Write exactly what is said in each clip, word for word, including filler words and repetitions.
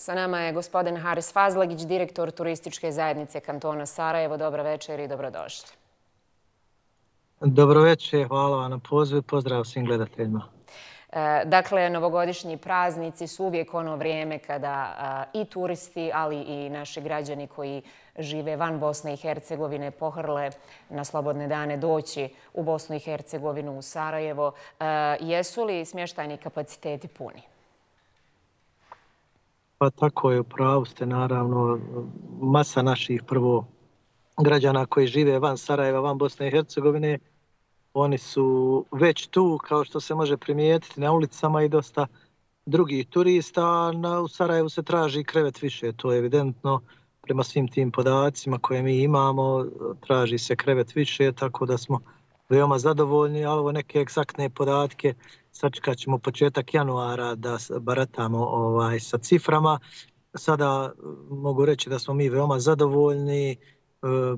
Sa nama je gospodin Haris Fazlagić, direktor turističke zajednice kantona Sarajevo. Dobro večer i dobrodošli. Dobro večer, hvala vam na pozivu. Pozdrav svim gledateljima. Dakle, novogodišnji praznici su uvijek ono vrijeme kada i turisti, ali i naši građani koji žive van Bosne i Hercegovine pohrle na slobodne dane doći u Bosnu i Hercegovinu, u Sarajevo. Jesu li smještajni kapaciteti puni? Pa tako je, upravo ste naravno. Masa naših prvo građana koji žive van Sarajeva, van Bosne i Hercegovine, oni su već tu, kao što se može primijetiti na ulicama, i dosta drugih turista. U Sarajevu se traži krevet više, to je evidentno. Prema svim tim podacima koje mi imamo, traži se krevet više, tako da smo veoma zadovoljni. Ali ovo neke egzaktne podatke, sačekat ćemo početak januara da baratamo ovaj, sa ciframa. Sada mogu reći da smo mi veoma zadovoljni.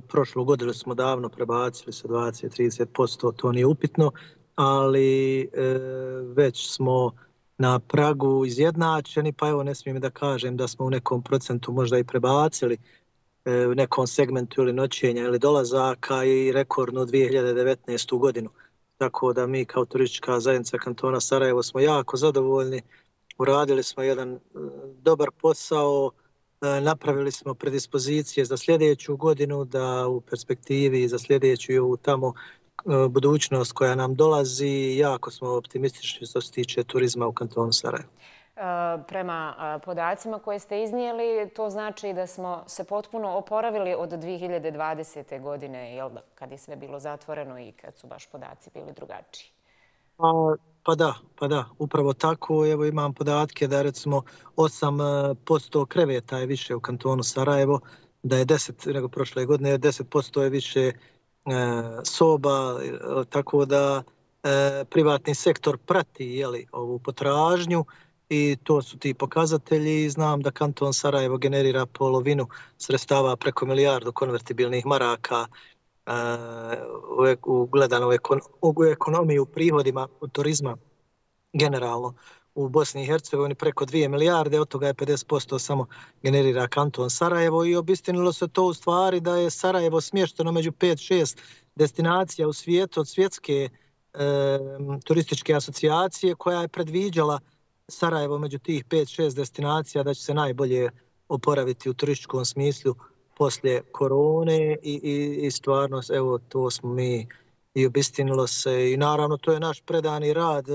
Prošlu godinu smo davno prebacili sa dvadeset do trideset posto, to nije upitno, ali e, već smo na pragu izjednačeni, pa evo ne smijem da kažem da smo u nekom procentu možda i prebacili e, u nekom segmentu ili noćenja ili dolazaka i rekordnu dvije hiljade devetnaestu. godinu. Tako da mi kao turistička zajednica kantona Sarajevo smo jako zadovoljni, uradili smo jedan e, dobar posao, napravili smo predispozicije za sljedeću godinu, da u perspektivi za sljedeću i ovu tamo budućnost koja nam dolazi, jako smo optimistični što se tiče turizma u kantonu Sarajevo. Prema podacima koje ste iznijeli, to znači da smo se potpuno oporavili od dvije hiljade dvadesete. godine, jel da, kad je sve bilo zatvoreno i kad su baš podaci bili drugačiji. Pa, pa da, pa da, upravo tako. Evo imam podatke da recimo osam posto kreveta je više u kantonu Sarajevo, da je deset nego prošle godine, deset posto je više e, soba, tako da e, privatni sektor prati jeli, ovu potražnju i to su ti pokazatelji. Znam da kanton Sarajevo generira polovinu sredstava preko milijardu konvertibilnih maraka u gledano u ekonomiji, u prihodima u turizma generalno u Bosni i Hercegovini preko dvije milijarde, od toga je pedeset posto samo generira kanton Sarajevo i obistinilo se to u stvari da je Sarajevo smješteno među pet šest destinacija u svijetu od svjetske e, turističke asocijacije koja je predviđala Sarajevo među tih pet šest destinacija da će se najbolje oporaviti u turističkom smislu poslije korone i, i, i stvarno, evo, to smo mi i obistinilo se i naravno to je naš predani rad. E,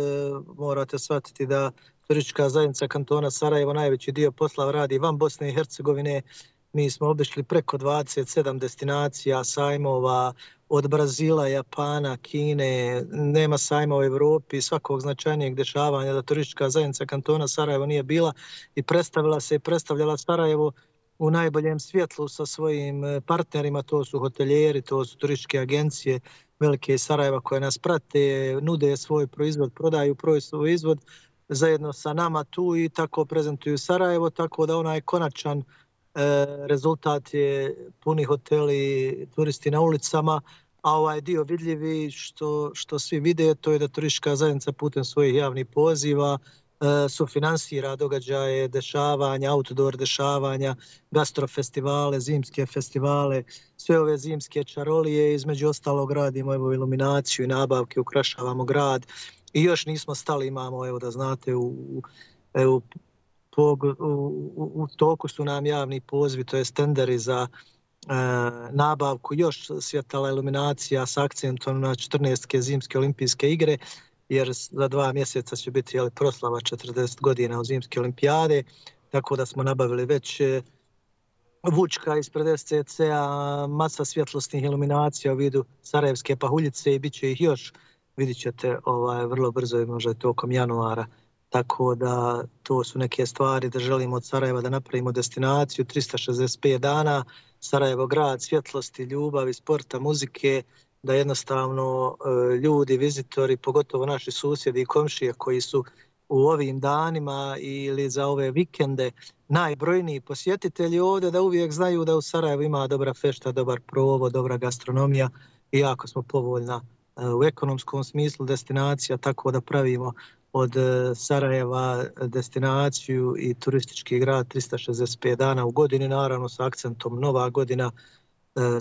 morate shvatiti da turistička zajednica kantona Sarajevo najveći dio posla radi van Bosne i Hercegovine. Mi smo obišli preko dvadeset sedam destinacija, sajmova od Brazila, Japana, Kine, nema sajma u Evropi, svakog značajnijeg dešavanja da turistička zajednica kantona Sarajevo nije bila i predstavila se i predstavljala Sarajevo u najboljem svjetlu sa svojim partnerima, to su hotelijeri, to su turističke agencije velike iz Sarajeva koje nas prate, nude svoj proizvod, prodaju svoj izvod zajedno sa nama tu i tako prezentuju Sarajevo, tako da onaj konačan e, rezultat je puni hoteli, turisti na ulicama, a ovaj dio vidljivi što, što svi vide, to je da turistička zajednica putem svojih javnih poziva sufinansira događaje, dešavanja, outdoor dešavanja, gastrofestivale, zimske festivale, sve ove zimske čarolije, između ostalog radimo evo iluminaciju i nabavke, ukrašavamo grad i još nismo stali, imamo, evo da znate, u, u, u, u, u toku su nam javni pozivi, to je tenderi za e, nabavku još svjetala iluminacija s akcentom na četrnaeste zimske olimpijske igre, jer za dva mjeseca će biti jeli, proslava četrdeset godina od zimske olimpijade, tako da smo nabavili već vučka ispred S C C-a, masa svjetlosnih iluminacija u vidu sarajevske pahuljice i bit će ih još, vidit ćete ovaj, vrlo brzo i možda tokom januara. Tako da to su neke stvari da želimo od Sarajeva da napravimo destinaciju, tristo šezdeset pet dana, Sarajevo grad, svjetlosti, ljubavi, sporta, muzike, da jednostavno ljudi, vizitori, pogotovo naši susjedi i komšije koji su u ovim danima ili za ove vikende najbrojniji posjetitelji ovdje, da uvijek znaju da u Sarajevu ima dobra fešta, dobar provod, dobra gastronomija i jako smo povoljna u ekonomskom smislu destinacija, tako da pravimo od Sarajeva destinaciju i turistički grad tristo šezdeset pet dana u godini, naravno sa akcentom Nova godina,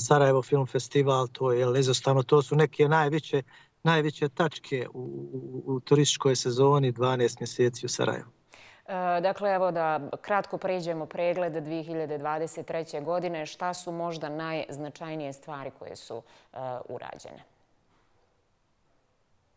Sarajevo film festival, to je izostavno, to su neke najveće, najveće tačke u, u, u turističkoj sezoni dvanaest mjeseci u Sarajevu. Dakle, evo da kratko pređemo pregled dvije hiljade dvadeset treće. godine. Šta su možda najznačajnije stvari koje su uh, urađene?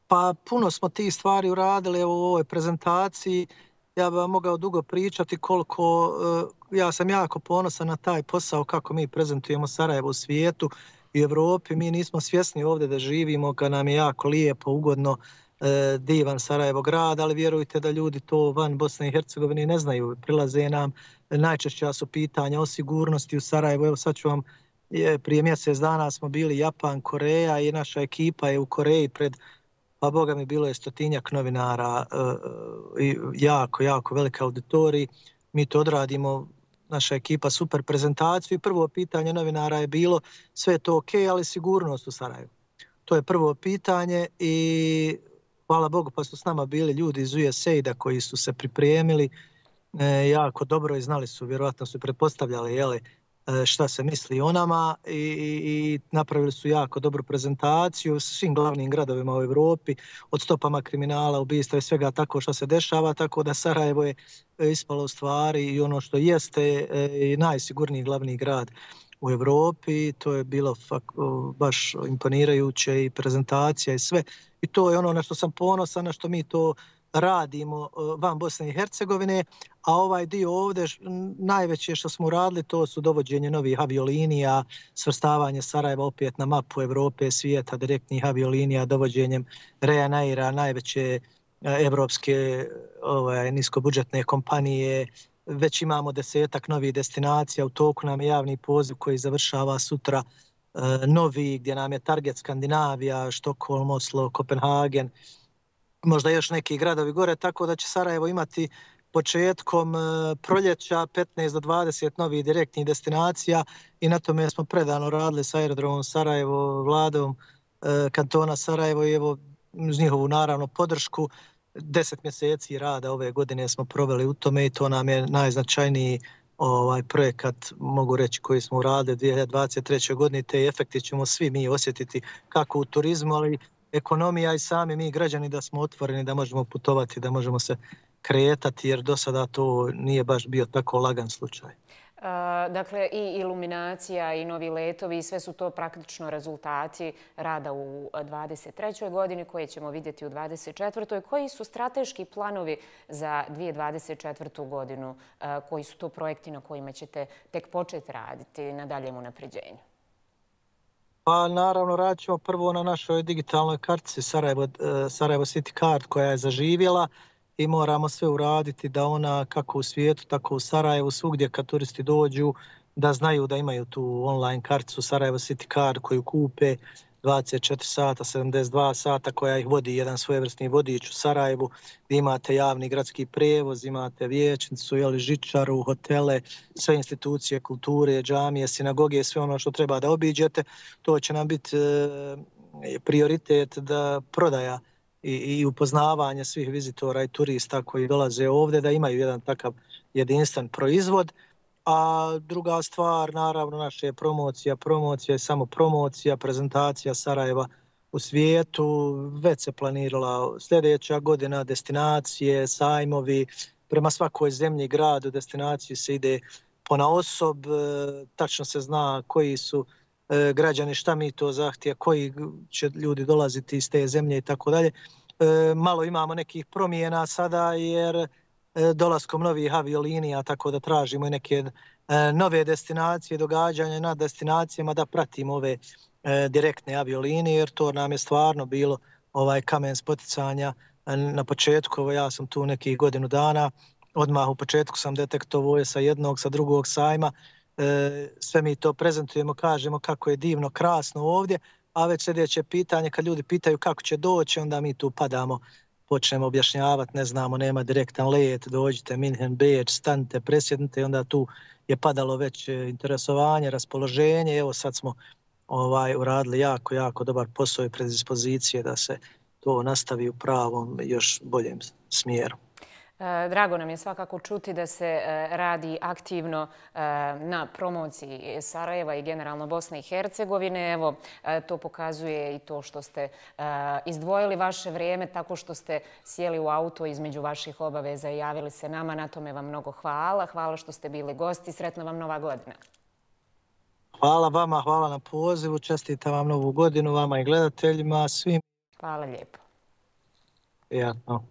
Pa puno smo tih stvari uradili evo, u ovoj prezentaciji. Ja bih vam mogao dugo pričati koliko, uh, ja sam jako ponosan na taj posao kako mi prezentujemo Sarajevo u svijetu i Evropi. Mi nismo svjesni ovdje da živimo, kad nam je jako lijepo, ugodno, divan Sarajevo grad, ali vjerujte da ljudi to van Bosne i Hercegovine ne znaju. Prilaze nam, najčešća su pitanja o sigurnosti u Sarajevu. Evo sad ću vam, je, prije mjesec dana smo bili Japan, Koreja i naša ekipa je u Koreji pred, pa boga mi bilo je stotinjak novinara i jako, jako velika auditorij. Mi to odradimo, naša ekipa super prezentaciju i prvo pitanje novinara je bilo sve to ok, ali sigurnost u Sarajevu. To je prvo pitanje i hvala Bogu pa su s nama bili ljudi iz U S A I D-a koji su se pripremili e, jako dobro i znali su, vjerojatno su pretpostavljali jeli, e, šta se misli o nama i, i, i napravili su jako dobru prezentaciju s svim glavnim gradovima u Evropi, od stopama kriminala, ubistva i svega tako što se dešava, tako da Sarajevo je ispalo u stvari i ono što jeste e, najsigurniji glavni grad u Evropi. To je bilo fak, baš imponirajuće i prezentacija i sve. I to je ono na što sam ponosan, na što mi to radimo van Bosne i Hercegovine, a ovaj dio ovdje najveće što smo radili to su dovođenje novih aviolinija, svrstavanje Sarajeva opet na mapu Evrope, svijeta, direktnih aviolinija, dovođenjem Ryanaira, najveće evropske ovaj, niskobudžetne kompanije. Već imamo desetak novih destinacija, u toku nam je javni poziv koji završava sutra, novi, gdje nam je target Skandinavija, Štokholm, Oslo, Kopenhagen, možda još neki gradovi gore, tako da će Sarajevo imati početkom proljeća petnaest do dvadeset novih direktnih destinacija i na tome smo predano radili sa aerodromom Sarajevo, vladom kantona Sarajevo i evo uz njihovu naravno podršku. Deset mjeseci rada ove godine smo proveli u tome i to nam je najznačajniji ovaj projekat, mogu reći, koji smo uradili dvije hiljade dvadeset treće. godine. Te efekti ćemo svi mi osjetiti kako u turizmu, ali ekonomija i sami mi građani da smo otvoreni, da možemo putovati, da možemo se kretati, jer do sada to nije baš bio tako lagan slučaj. Dakle, i iluminacija i novi letovi, sve su to praktično rezultati rada u dvadeset trećoj. godini koje ćemo vidjeti u dvadeset četvrtoj. Koji su strateški planovi za dvije hiljade dvadeset četvrtu. godinu? Koji su to projekti na kojima ćete tek početi raditi na daljem unapređenju? Pa naravno radit ćemo prvo na našoj digitalnoj kartici Sarajevo, Sarajevo City Card koja je zaživjela i moramo sve uraditi da ona kako u svijetu, tako u Sarajevu, svugdje kad turisti dođu, da znaju da imaju tu online karticu Sarajevo City Card koju kupe dvadeset četiri sata, sedamdeset dva sata, koja ih vodi jedan svojevrsni vodič u Sarajevu, gdje imate javni gradski prevoz, imate vijećnicu, jeli, žičaru, hotele, sve institucije kulture, džamije, sinagoge, sve ono što treba da obiđete. To će nam biti e, prioritet da prodaja i, i upoznavanje svih vizitora i turista koji dolaze ovdje, da imaju jedan takav jedinstven proizvod. A druga stvar, naravno, naša je promocija. Promocija je samo promocija, prezentacija Sarajeva u svijetu. Već se planirala sljedeća godina, destinacije, sajmovi. Prema svakoj zemlji, gradu, destinaciji se ide ponaosob. Tačno se zna koji su građani, šta mi to zahtija, koji će ljudi dolaziti iz te zemlje i tako dalje. Malo imamo nekih promjena sada jer dolaskom novih aviolinija, tako da tražimo i neke nove destinacije, događanja na destinacijama da pratimo ove direktne aviolinije, jer to nam je stvarno bilo ovaj kamen spoticanja na početku. Ja sam tu nekih godinu dana, odmah u početku sam detektovao sa jednog, sa drugog sajma, sve mi to prezentujemo, kažemo kako je divno, krasno ovdje, a već sljedeće pitanje, kad ljudi pitaju kako će doći, onda mi tu padamo, počnemo objašnjavati, ne znamo, nema direktan let, dođite, Minhen, Beč, stanite, presjednite i onda tu je padalo već interesovanje, raspoloženje. Evo sad smo ovaj uradili jako, jako dobar posao i predispozicije da se to nastavi u pravom, još boljem smjeru. Drago nam je svakako čuti da se radi aktivno na promociji Sarajeva i generalno Bosne i Hercegovine. Evo, to pokazuje i to što ste izdvojili vaše vrijeme tako što ste sjeli u auto između vaših obaveza i javili se nama. Na tome vam mnogo hvala. Hvala što ste bili gosti. Sretna vam Nova godina. Hvala vama, hvala na pozivu. Čestitam vam Novu godinu, vama i gledateljima, svim. Hvala lijepo. Prijatno.